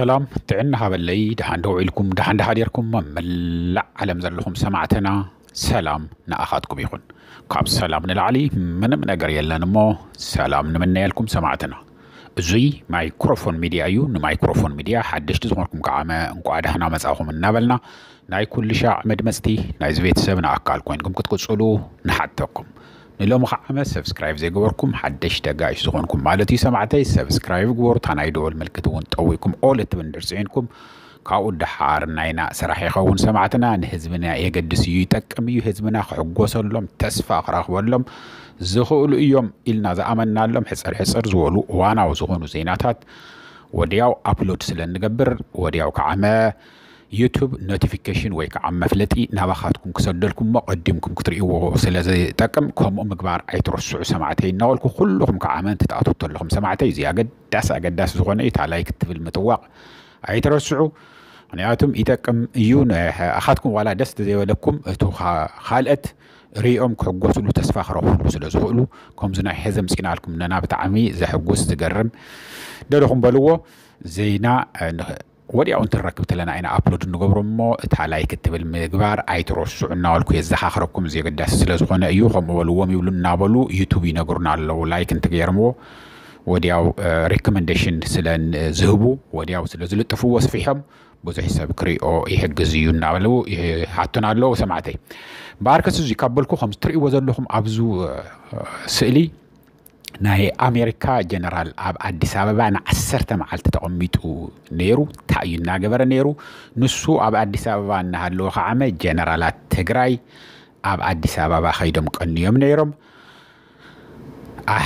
ሰላም ጥዕና ሃበለይ፣ ደሓን ደው ኢልኩም፣ ደሓን ደሃዲርኩም፣ ኣብ መላእ ዓለም ዘለኹም ሰማዕትና ሰላም ንኣኻትኩም ይኹን። ካብ ሰላም ንላዕሊ ምንም ነገር የለን እሞ ሰላም ንምነየልኩም ሰማዕትና። እዙይ ማይክሮፎን ሚድያ እዩ። ንማይክሮፎን ሚድያ ሓደሽቲ ዝኾንኩም ከዓመ እንቋዕ ደህና መጻኹም እናበልና ናይ ኩሉ ሻዕ መድመጽቲ ናይዚ ቤተሰብና ኣካል ኮይንኩም ክትቅጽሉ ንሓተኩም። ንሎሚ ከዓመ ሰብስክራይብ ዘይገበርኩም ሓደሽቲ ኣጋይሽ ዝኾንኩም ማለት እዩ ሰማዕተይ፣ ሰብስክራይብ ግበሩ። እታ ናይ ደወል ምልክት እውን ጠዊኩም ኦል እትብል እንድርጽዒንኩም ካብኡ ደሓር ናይና ስራሕ ይኸውን ሰማዕትና። ንህዝብና የገድስ እዩ፣ ይጠቅም እዩ። ህዝብና ክሕጎሰሎም፣ ተስፋ ክረኽበሎም ዝኽእሉ እዮም ኢልና ዝኣመናሎም ሕጽር ሕጽር ዝበሉ እዋናዊ ዝኾኑ ዜናታት ወዲያው ኣፕሎድ ስለ እንገብር ወዲያው ከዓመ ዩቱብ ኖቲፊኬሽን ወይ ከዓ መፍለጢ ናባኻትኩም ክሰደልኩም እሞ ቀዲምኩም ክትርእይዎ ስለ ዝጠቅም ከምኡ ምግባር ኣይትረስዑ ሰማዕተይ እናበልኩ ኩልኹም ከዓመ እንትትኣትዉ ተለኹም ሰማዕተይ እዚ ኣገዳሲ ኣገዳሲ ዝኾነ እዩ። እታ ላይክ እትብል ምጥዋቕ ኣይትረስዑ። ምክንያቱም ይጠቅም እዩ። ንኣኻትኩም ዋላ ደስ ዘይበለኩም እቱ ኻ- ካልአት ሪኦም ክሕጎስሉ ተስፋ ክረኽብሉ ስለ ዝኽእሉ ከምዚ ናይ ሕዚ ምፂናልኩም ነና ብጣዕሚ ዘሕጉስ ዝገርም ደለኹም በልዎ ዜና ወዲያው እንትንረክብ ተለና ኢና ኣፕሎድ እንገብሮ እሞ እታ ላይክ እትብል ምግባር ኣይትረስዑ እናበልኩ የዘኻኽረኩም። እዚ ኣገዳሲ ስለ ዝኾነ እዩ። ከምኡ በልዎም ይብሉ እናበሉ ዩቱብ ይነግሩና ኣለዉ። ላይክ እንትገይርምዎ ወዲያው ሪኮመንዴሽን ስለ ዝህቡ ወዲያው ስለ ዝልጥፍዎ ስፊሖም ብዙሕ ሰብ ክሪኦ ይሕግዝ እዩ እናበሉ ይሓቱና ኣለዉ ሰማዕተይ። እምበኣርከስ እዙይ ካብ በልኩ ከም ትርእይዎ ዘለኹም ኣብዚ ስእሊ ናይ ኣሜሪካ ጀነራል ኣብ ኣዲስ ኣበባ ንዓሰርተ መዓልቲ ተቐሚጡ ነይሩ። እንታይ እዩ እናገበረ ነይሩ? ንሱ ኣብ ኣዲስ ኣበባ እናሃለወ ከዓመ ጀነራላት ትግራይ ኣብ ኣዲስ ኣበባ ከይዶም ቀንዮም ነይሮም።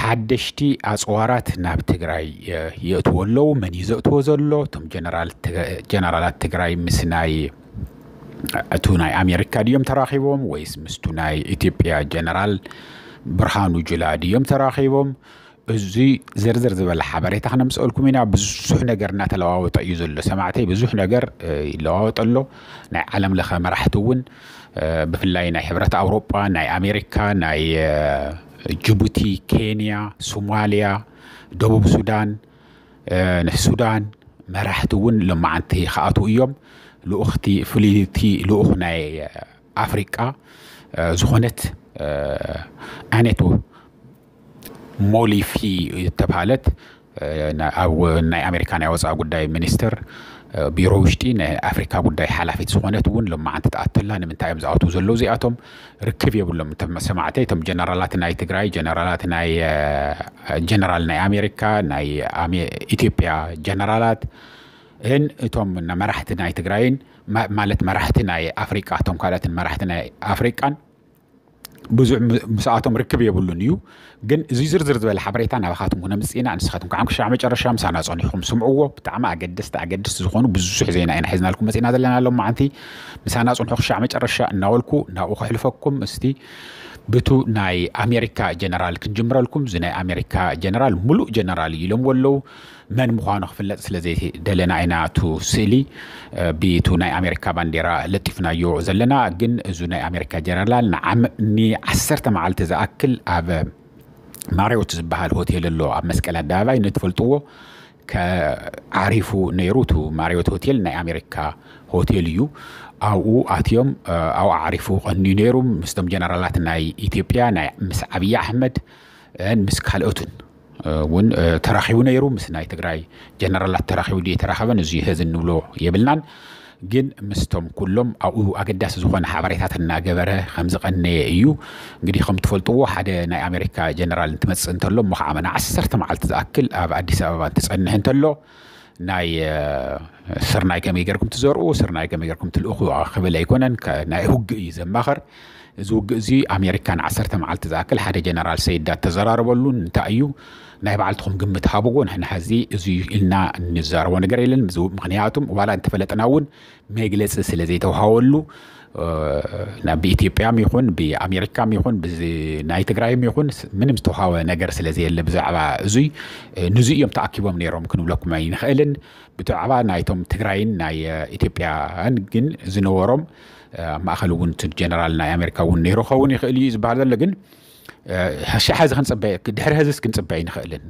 ሓደሽቲ ኣፅዋራት ናብ ትግራይ የእትዎ ኣለዉ። መን እዩ ዘእትዎ ዘሎ? እቶም ጀነራላት ትግራይ ምስ ናይ እቱ ናይ ኣሜሪካ ድዮም ተራኺቦም ወይስ ምስቱ ናይ ኢትዮጵያ ጀነራል ብርሃኑ ጁላ ድዮም ተራኺቦም? እዚ ዝርዝር ዝበለ ሓበሬታ ክነምፀልኩም ኢና። ብዙሕ ነገር እናተለዋወጠ እዩ ዘሎ ሰማዕተይ፣ ብዙሕ ነገር ይለዋወጠ ኣሎ። ናይ ዓለም ለኸ መራሕቲ እውን ብፍላይ ናይ ሕብረት ኣውሮጳ፣ ናይ ኣሜሪካ፣ ናይ ጅቡቲ፣ ኬንያ፣ ሶማሊያ፣ ደቡብ ሱዳን፣ ሱዳን መራሕቲ እውን ሎማዓንቲ ክኣትዉ እዮም። ልኡኽቲ ፍልይቲ ልኡኽ ናይ ኣፍሪቃ ዝኾነት ኣኔቶ ሞሊፊ ዝተባሃለት ኣብ ናይ ኣሜሪካ ናይ ወፃኢ ጉዳይ ሚኒስትር ቢሮ ውሽጢ ናይ ኣፍሪካ ጉዳይ ሓላፊት ዝኾነት እውን ሎማዓንቲ ትኣተላ። ንምንታይ እዮም ዝኣትዉ ዘለዉ እዚኣቶም? ርክብ የብሎም። እቶም ሰማዕተይ እቶም ጀነራላት ናይ ትግራይ ጀነራላት ናይ ጀነራል ናይ ኣሜሪካ ናይ ኢትዮጵያ ጀነራላት እን እቶም መራሕቲ ናይ ትግራይን ማለት መራሕቲ ናይ ኣፍሪቃ እቶም ካልኦትን መራሕቲ ናይ ኣፍሪቃን ብዙሕ ምስኣቶም ርክብ የብሉን እዩ። ግን እዚ ዝርዝር ዝበለ ሓበሬታ ናባኻትኩም ክነምፅእ ኢና። ንስኻትኩም ከዓ ክሻዕ መጨረሻ ምሳና ፀኒሕኩም ስምዕዎ። ብጣዕሚ ኣገደስቲ ኣገደስቲ ዝኾኑ ብዙሕ ዜና ኢና ሒዝናልኩም መፂና ዘለና ሎም መዓንቲ። ምሳና ፅንሑ ክሻዕ መጨረሻ እናበልኩ ናብኡ ከሕልፈኩም። እስቲ ብቱ ናይ ኣሜሪካ ጀነራል ክንጅምረልኩም። እዚ ናይ ኣሜሪካ ጀነራል ሙሉእ ጀነራል እዩ ኢሎምዎ ኣለዉ። መን ምዃኑ ክፍለጥ ስለ ዘይደለና ኢና እቱ ስእሊ ብቱ ናይ ኣሜሪካ ባንዴራ ለጢፍናዮ ዘለና። ግን እዙ ናይ ኣሜሪካ ጀነራል ንዓም ንዓሰርተ መዓልቲ ዝኣክል ኣብ ማሪዮት ዝበሃል ሆቴል ኣሎ ኣብ መስቀል ኣደባባይ ንትፈልጥዎ ከዓሪፉ ነይሩ። እቱ ማሪዮት ሆቴል ናይ ኣሜሪካ ሆቴል እዩ። ኣብኡ ኣትዮም ኣብኡ ዓሪፉ ቀንዩ ነይሩ። ምስቶም ጀነራላት ናይ ኢትዮጵያ ናይ ምስ ዓብዪ ኣሕመድ ምስ ካልኦትን እውን ተራኺቡ ነይሩ። ምስ ናይ ትግራይ ጀነራላት ተራኺቡ ድዩ ተራኸበን እዚ ሕዚ እንብሎ የብልናን። ግን ምስቶም ኩሎም ኣብኡ ኣገዳሲ ዝኾነ ሓበሬታት እናገበረ ከም ዝቐነየ እዩ። እንግዲህ ከም ትፈልጥዎ ሓደ ናይ ኣሜሪካ ጀነራል እንትመፅእ እንተሎ እሞ ከዓ መና ዓሰርተ መዓልቲ ዝኣክል ኣብ ኣዲስ ኣበባ እንትፀንሕ እንተሎ ናይ ስርናይ ከመይ ገርኩም ትዘርኡ ስርናይ ከመይ ገርኩም ትልእኹ ክብል ኣይኮነን። ናይ ውግእ እዩ ዘማኸር። እዚ ውግእ እዚ ኣሜሪካ ንዓሰርተ መዓልቲ ዝኣክል ሓደ ጀነራል ሰይዳ ተዘራረበሉ እንታይ እዩ ናይ ባዕልትኹም ግምት ሃብዎ። ንሕና ሕዚ እዚ ኢልና እንዛረቦ ነገር የለን። ምክንያቱም ዋላ እንተፈለጥና እውን መግለፂ ስለ ዘይተውሃወሉ ናብ ብኢትዮጵያም ይኹን ብኣሜሪካም ይኹን ናይ ትግራይም ይኹን ምንም ዝተውሃወ ነገር ስለ ዘየለ ብዛዕባ እዙይ ንዙ እዮም ተኣኪቦም ነይሮም ክንብለኩም ኣይንኽእልን። ብዛዕባ ናይቶም ትግራይን ናይ ኢትዮጵያን ግን ዝነበሮም ኣብ ማእኸል እውን ጀነራል ናይ ኣሜሪካ እውን ነይሩ ኸውን ይኽእል እዩ ዝበሃል ዘሎ። ግን ሻሕ ሕዚ ክንፅበ ድሕሪ ሕዝስ ክንፅበ ኣይንኽእልን።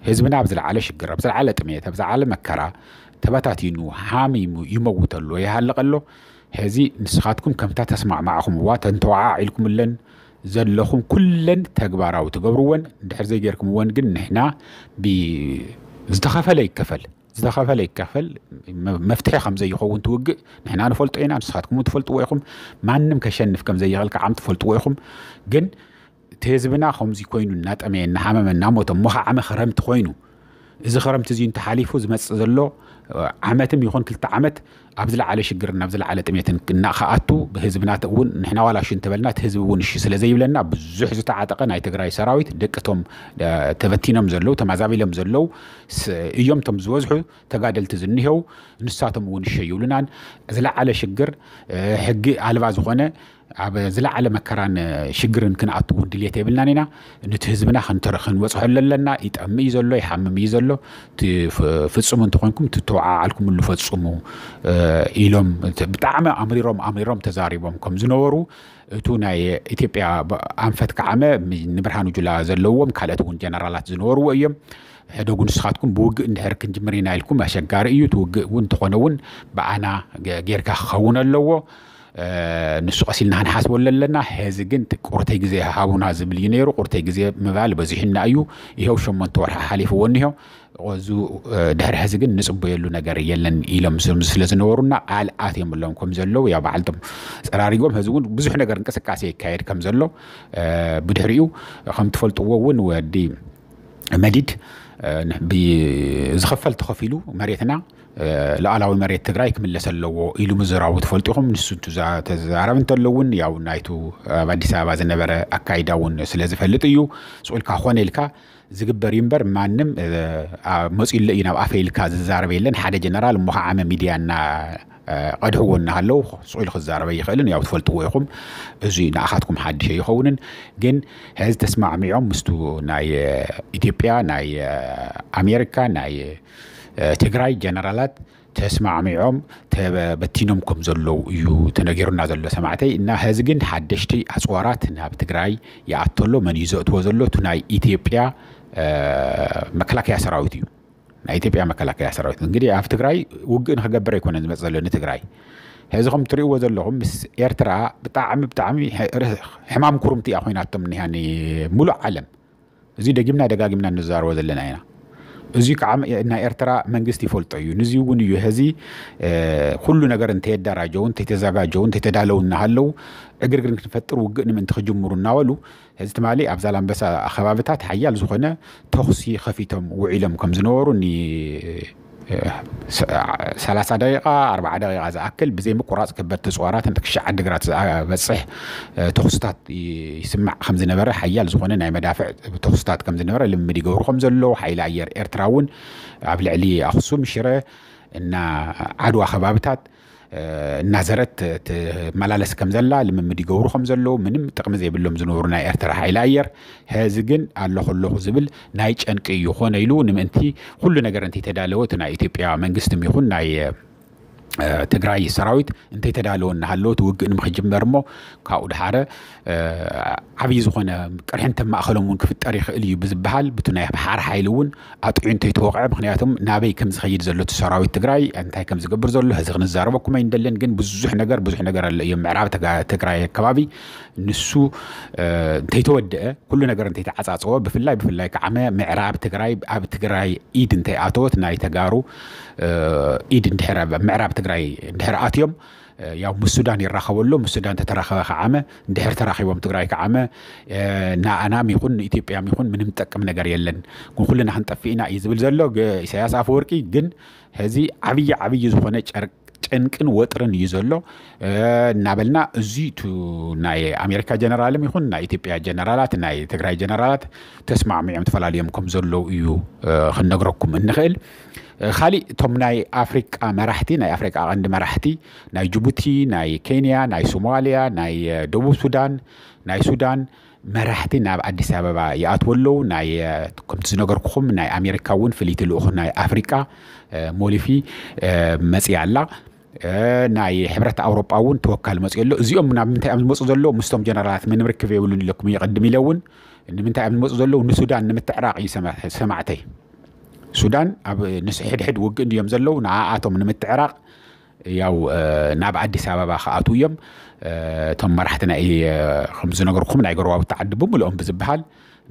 ህዝብና ኣብ ዝለዓለ ሽግር ኣብ ዝለዓለ ጥሜት ኣብ ዝለዓለ መከራ ተበታቲኑ፣ ሓሚሙ፣ ይመውት ኣሎ፣ ይሃልቕ ኣሎ። ሕዚ ንስኻትኩም ከምታ ተስማዕማዕኹምዋ፣ ተንተዋዓ ኢልኩምለን ዘለኹም ኩለን ተግባራዊ ትገብርወን። እንድሕር ዘይጌርኩምወን ግን ንሕና ብ-፣ ዝተኸፈለ ይከፈል፣ ዝተኸፈለ ይከፈል፣ መ-፣ መፍትሒ ከም ዘይኸውን ትውግእ ንሕና ንፈልጦ ኢና፣ ንስኻትኩም ትፈልጥዎ ኢኹም። ማንም ከሸንፍ ከም ዘይኽእል ከዓ ትፈልጥዎ ኢኹም። ግን እቲ ህዝብና ከምዚ ኮይኑ እናጠመየ፣ እናሓመመ፣ እናሞተ፣ እሞ ከዓ ዓመ ክረምቲ ኮይኑ፣ እዚ ክረምቲ እዚ እንተሓሊፉ ዝመፅእ ዘሎ ዓመትም ይኹን ክልተ ዓመት ኣብ ዝለዓለ ሽግርን ኣብ ዝለዓለ ጥሜትን እናኸኣቱ፣ ብህዝብና እውን ንሕና ዋላ እሺ እንተበልና እቲ ህዝቢ እውን እሺ ስለ ዘይብለና ብዙሕ ዝተዓጠቐ ናይ ትግራይ ሰራዊት፣ ደቅቶም ተበቲኖም ዘለዉ፣ ተማዛቢሎም ዘለዉ እዮም። እቶም ዝበዝሑ ተጋደልቲ ዝኒሄው ንሳቶም እውን እሺ ይብሉናን። ዝለዓለ ሽግር፣ ሕጊ ኣልባ ዝኾነ ኣብ ዝለዓለ መከራን ሽግርን ክንኣቱ እውን ድልየት የብልናን ኢና። ነቲ ህዝብና ክንተረ-፣ ክንበፅሖ ኣለና። ይጠምእ እዩ ዘሎ፣ ይሓምም እዩ ዘሎ። እቲ ፍ-፣ ፍፁም እንተኾንኩም ትተወዓዓልኩምሉ ፈፅሙ፣ ኢሎም ብጣዕሚ ኣምሪሮም፣ ኣምሪሮም ተዛሪቦም ከም ዝነበሩ፣ እቱ ናይ ኢትዮጵያ ብ-፣ ኣንፈት ከዓመ ም-፣ ንብርሃኑ ጁላ ዘለዎም ካልኦት እውን ጀነራላት ዝነበርዎ እዮም። ሕደጉ ንስኻትኩም ብውግእ እንድሕር ክንጅምር ኢና ኢልኩም ኣሸጋሪ እዩ። እቲ ውግእ እውን እንተኾነ እውን ብኣና ገ-፣ ጌርካ ክኸውን ኣለዎ። ንሱ ቀሲልና ክንሓስበሉ ኣለና። ሕዚ ግን እቲ ቁርተይ ግዜ ሃቡና ዝብል እዩ ነይሩ። ቁርተይ ግዜ ምባል በዚሕና እዩ። ይኸው ሸሞንተ ወርሒ ሓሊፍዎ እኒሆ። እዚ ድሕሪ ሕዚ ግን ንፅበየሉ ነገር የለን ኢሎም ስለ ዝነበሩና ቃል ኣትዮም ኣለዎም ከም ዘለዉ ያው በዓልቶም ፀራሪጎም። ሕዚ እውን ብዙሕ ነገር እንቅስቃሴ ይካየድ ከም ዘሎ ብድሕሪኡ ከም ትፈልጥዎ እውን ወዲ መዲድ ብዝኸፈል ተኸፊሉ መሬትና ሉዓላዊ መሬት ትግራይ ክምለስ ኣለዎ ኢሉ ምዝራቡ ትፈልጡ ኢኹም። ንሱ ተዛረብ እንተሎ እውን ያው ናይቱ ኣብ ኣዲስ ኣበባ ዝነበረ ኣካይዳ እውን ስለ ዝፈልጥ እዩ። ስቕ ኢልካ ኮነ ኢልካ ዝግበር እዩ እምበር ማንም መፂኡ ኣሎ እዩ ናብ ኣፈ ኢልካ ዝዛረብ የለን። ሓደ ጀነራል እሞ ከዓ ዓመ ሚድያ እና ቀድሕዎ እናሃለዉ ስቕ ኢሉ ክዛረብ ኣይኽእልን። ያው ትፈልጥዎ ኢኹም። እዚ ንኣኻትኩም ሓድሽ ኣይኸውንን። ግን ሕዚ ተስማዕሚዖም ምስቱ ናይ ኢትዮጵያ፣ ናይ ኣሜሪካ፣ ናይ ትግራይ ጀነራላት ተስማዕሚዖም ተበቲኖም ከም ዘለዉ እዩ ተነጊሩና ዘሎ ሰማዕተይ። እና ሕዚ ግን ሓደሽቲ ኣፅዋራት ናብ ትግራይ ይኣተሎ መን እዩ ዘእትዎ ዘሎ? እቱ ናይ ኢትዮጵያ መከላከያ ሰራዊት እዩ። ናይ ኢትዮጵያ መከላከያ ሰራዊት እንግዲህ ኣብ ትግራይ ውግእ ንክገብር ኣይኮነን ዝመፅ ዘሎ ንትግራይ። ሕዚ ከም ትሪእዎ ዘለኹም ምስ ኤርትራ ብጣዕሚ ብጣዕሚ ሕማም ኩርምቲ እያ ኮይናቶም እኒሃ ሙሉእ ዓለም። እዚ ደጊምና ደጋጊምና እንዛረቦ ዘለና ኢና። እዚ ከዓ ናይ ኤርትራ መንግስቲ ይፈልጦ እዩ። ንዚ እውን እዩ ሕዚ ኩሉ ነገር እንተየደራጀው እንተተዘጋጀው እንተተዳለው እናሃለው ዕግርግር ክንፈጥር ውግእ ንምእንቲ ክጅምሩ እናበሉ ሕዚ ትማሊ ኣብ ዛላምበሳ ከባብታት ሓያል ዝኾነ ተኹሲ ከፊቶም ውዒሎም ከም ዝነበሩ ኒ ሰላሳ ደቂቃ ኣርባዓ ደቂቃ ዝኣክል ብዘይ ምቁራፅ ከበድቲ ፅዋራት ክሻዕ ዓዲግራት ዝበፅሕ ተኹስታት ይስማዕ ከም ዝነበረ ሓያል ዝኾነ ናይ መዳፍዕ ተኹስታት ከም ዝነበረ ልምምድ ይገብሩ ከም ዘለዉ ሓይሊ ኣየር ኤርትራ እውን ኣብ ልዕሊ ኣኽሱም ሽረ እና ዓድዋ ከባብታት እናዘረት ትመላለስ ከም ዘላ ልምምድ ይገብሩ ከም ዘለዉ ምንም ጥቕሚ ዘይብሎም ዝነበሩ ናይ ኤርትራ ሓይሊ ኣየር ሕዚ ግን ኣለኹ ኣለኹ ዝብል ናይ ጨንቂ እዩ። ኮነ ኢሉ ንምእንቲ ኩሉ ነገር እንተይተዳለወ እቲ ናይ ኢትዮጵያ መንግስቲ ይኹን ናይ ትግራይ ሰራዊት እንተይተዳለወ እናሃለወ እቲ ውግእ ንምክጅመር እሞ ካብኡ ድሓረ ዓብዪ ዝኾነ ቅርሕንተ ማእኸሎም እውን ክፍጠር ይኽእል እዩ ብዝበሃል ብቲ ናይ ሓር ሓይሊ እውን ኣጥዑ እንተይተወቕዐ ምክንያቱም ናበይ ከም ዝኸይድ ዘሎ እቲ ሰራዊት ትግራይ እንታይ ከም ዝገብር ዘሎ ሕዚ ክንዛረበኩም ኣይንደልን። ግን ብዙሕ ነገር ብዙሕ ነገር ኣሎ እዮም ምዕራብ ትግራይ ኣከባቢ ንሱ እንተይተወደአ ኩሉ ነገር እንተይተዓፃፀወ ብፍላይ ብፍላይ ከዓመ ምዕራብ ትግራይ ኣብ ትግራይ ኢድ እንተይኣተወት ናይ ተጋሩ ኢድ እንድሕር ምዕራብ ትግራይ እንድሕር ኣትዮም ያው ምስ ሱዳን ይራኸበሉ ምስ ሱዳን ተተራኸበ ከዓመ እንድሕር ተራኺቦም ትግራይ ከዓመ ንኣናም ይኹን ንኢትዮጵያም ይኹን ምንም ጠቅም ነገር የለን። ግን ኩልና ክንጠፍእ ኢና እዩ ዝብል ዘሎ ኢሳያስ ኣፈወርቂ። ግን ሕዚ ዓብዪ ዓብዪ ዝኾነ ጨርቅ ጨንቅን ወጥርን እዩ ዘሎ እናበልና እዚ ቱ ናይ ኣሜሪካ ጀነራልም ይኹን ናይ ኢትዮጵያ ጀነራላት ናይ ትግራይ ጀነራላት ተስማዕሚዖም ተፈላለዮም ከም ዘለዉ እዩ ክንነግረኩም እንኽእል። ካሊእ እቶም ናይ ኣፍሪቃ መራሕቲ ናይ ኣፍሪቃ ቀንዲ መራሕቲ ናይ ጅቡቲ ናይ ኬንያ ናይ ሶማልያ ናይ ደቡብ ሱዳን ናይ ሱዳን መራሕቲ ናብ ኣዲስ ኣበባ ይኣትዎ ኣለዉ። ናይ ከምቲ ዝነገርኩኹም ናይ ኣሜሪካ እውን ፍልይቲ ልኡኽ ናይ ኣፍሪቃ ሞሊፊ መፅያ ኣላ። ናይ ሕብረት ኣውሮጳ እውን ተወካል መፅኡ ኣሎ። እዚኦም ናብ ምንታይ እዮም ዝመፁ ዘለዉ ምስቶም ጀነራላት ምንም ርክብ የብሉን ኢለኩም እየ ቅድም ኢለ እውን ንምንታይ እዮም ዝመፁ ዘለዉ ንሱዳን ንምትዕራቕ እዩ ሰማዕተይ። ሱዳን ኣብ ንስሕድሕድ ውግእ እንድዮም ዘለዉ፣ ንኣኣቶም ንምትዕራቕ ያው ናብ ኣዲስ ኣበባ ክኣትዉ እዮም። እቶም መራሕቲ ናይ ከም ዝነገርኩም ናይ ጎረባብቲ ዓዲ ብምልኦም ብዝበሃል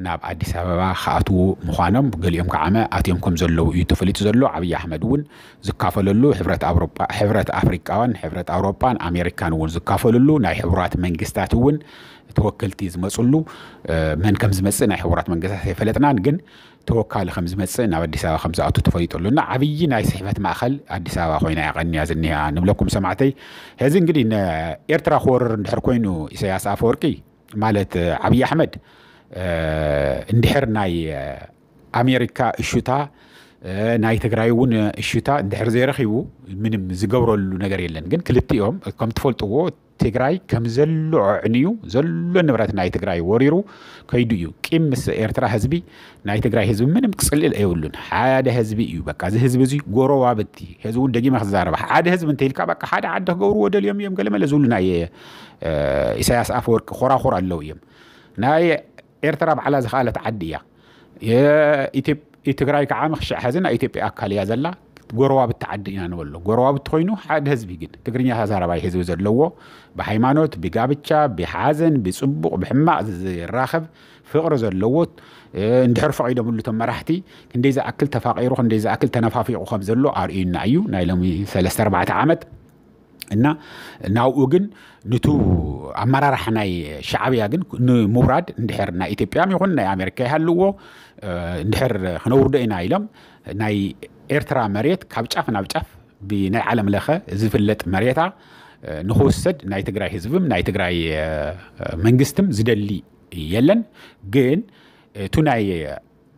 ናብ ኣዲስ ኣበባ ክኣትዉ ምዃኖም፣ ገሊኦም ከዓመ ኣትዮም ከም ዘለዉ እዩ ተፈሊጡ ዘሎ። ኣብይ ኣሕመድ እውን ዝካፈለሉ፣ ሕብረት ኣውሮጳ፣ ሕብረት ኣፍሪቃውያን፣ ሕብረት ኣውሮጳን ኣሜሪካን እውን ዝካፈለሉ፣ ናይ ሕቡራት መንግስታት እውን ተወከልቲ ዝመፅሉ፣ መን ከም ዝመፅእ ናይ ሕቡራት መንግስታት ኣይፈለጥናን፣ ግን ተወካሊ ከም ዝመፅእ ናብ ኣዲስ ኣበባ ከም ዝኣቱ ተፈሊጡ ኣሎ። እና ዓብዪ ናይ ስሕፈት ማእኸል ኣዲስ ኣበባ ኮይና እያ ቀንያ ዝኒሃ ንብለኩም ሰማዕተይ። ሕዚ እንግዲህ ንኤርትራ ክወርር እንድሕር ኮይኑ ኢሳያስ ኣፈወርቂ ማለት ኣብይ ኣሕመድ እንድሕር ናይ ኣሜሪካ እሹታ ናይ ትግራይ እውን እሹታ እንድሕር ዘይረኺቡ ምንም ዝገብረሉ ነገር የለን። ግን ክልቲኦም ከም ትፈልጥዎ ትግራይ ከም ዘሎ ኣዕንዩ ዘሎ ንብረት ናይ ትግራይ ወሪሩ ከይዱ እዩ። ቂም ምስ ኤርትራ ህዝቢ ናይ ትግራይ ህዝቢ ምንም ክፅልእል የብሉን። ሓደ ህዝቢ እዩ። በቃ እዚ ህዝቢ እዚ ጎረባብቲ፣ ህዝቢ እውን ደጊመ ክዛረባ ሓደ ህዝቢ እንተኢልካ በቃ ሓደ ዓዲ ክገብርዎ ደልዮም እዮም። ገለመለ ዝብሉ ናይ ኢሳያስ ኣፈወርቂ ኮራኹር ኣለዉ እዮም። ናይ ኤርትራ ባዕላ ዝኸኣለት ዓዲ እያ። ትግራይ ከዓ ምኽሽዕ ሕዚ ናይ ኢትዮጵያ ኣካል እያ ዘላ። ጎረባብቲ ዓዲ ኢና ንበሎ። ጎረባብቲ ኮይኑ ሓደ ህዝቢ ግን ትግርኛ ተዛረባይ ህዝቢ ዘለዎ ብሃይማኖት፣ ብጋብቻ፣ ብሓዘን፣ ብፅቡቕ፣ ብሕማቕ ዝራኸብ ፍቕሪ ዘለዎ እንድሕር ፈቒዶምሉ እቶም መራሕቲ ክንደይ ዝኣክል ተፋቒሩ ክንደይ ዝኣክል ተነፋፊቑ ከም ዘሎ ኣርእዩና እዩ ናይ ሎሚ ሰለስተ ኣርባዕተ ዓመት። እና ናብኡ ግን ንቱ ኣመራርሓ ናይ ሻዕብያ ግን ንምውራድ እንድሕር ናይ ኢትዮጵያ ይኹን ናይ ኣሜሪካ ይሃልዎ እንድሕር ክነውርዶ ኢና ኢሎም ናይ ኤርትራ መሬት ካብ ጫፍ ናብ ጫፍ ብናይ ዓለም ለኸ ዝፍለጥ መሬታ ንክውሰድ ናይ ትግራይ ህዝብም ናይ ትግራይ መንግስትም ዝደሊ የለን። ግን እቱ ናይ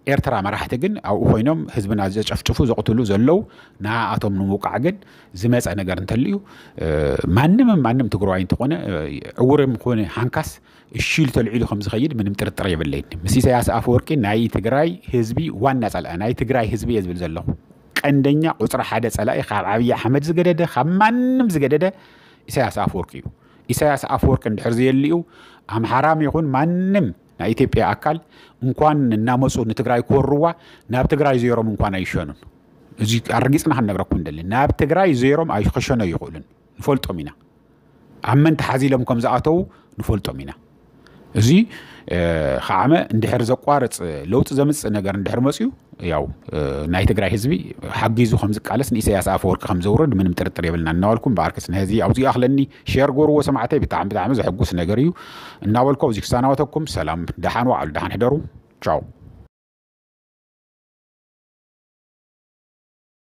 ኤርትራ መራሕቲ ግን ኣብኡ ኮይኖም ህዝብና ዘጨፍጭፉ ዘቕትሉ ዘለዉ ንኣቶም ንምውቃዕ ግን ዝመፀ ነገር እንተልዩ ማንም ማንም ትግራዋይ እንተኾነ ዕውርም ኮነ ሃንካስ እሺ ኢሉ ተልዒሉ ከም ዝኸይድ ምንም ጥርጥር የብለይን። ምስ ኢሳያስ ኣፈወርቂ ናይ ትግራይ ህዝቢ ዋና ፀላኢ ናይ ትግራይ ህዝቢ እየ ዝብል ዘለኹ። ቀንደኛ ቁፅሪ ሓደ ፀላኢ ካብ ዓብዪ ኣሕመድ ዝገደደ ካብ ማንም ዝገደደ ኢሳያስ ኣፈወርቂ እዩ። ኢሳያስ ኣፈወርቂ እንድሕር ዘየልዩ ኣምሓራም ይኹን ማንም ናይ ኢትዮጵያ ኣካል እንኳን እናመፁ ንትግራይ ክወርዋ ናብ ትግራይ ዜሮም እንኳን ኣይሸኑን። እዚ ኣረጊፅና ክንነግረኩም እንደሊ ናብ ትግራይ ዜሮም ኣይክሸኖ ይኽእሉን። ንፈልጦም ኢና። ኣብ መን ተሓዚሎም ከም ዝኣተዉ ንፈልጦም ኢና። እዚ ከዓመ እንድሕር ዘቋርፅ ለውጢ ዘምፅእ ነገር እንድሕር መፅዩ ያው ናይ ትግራይ ህዝቢ ሓጊዙ ከም ዝቃለስ ንኢሳያስ ኣፈወርቂ ከም ዘውርድ ምንም ጥርጥር የብልና እናበልኩም ብኣርክስ ንህዚ ኣብዚ ኣኽለኒ ሼር ጎርዎ ሰማዕተይ ብጣዕሚ ብጣዕሚ ዘሐጉስ ነገር እዩ እናበልኩ ኣብዚ ክሳናወተኩም ሰላም ደሓን ዋዕሉ ደሓን ሕደሩ ቻው።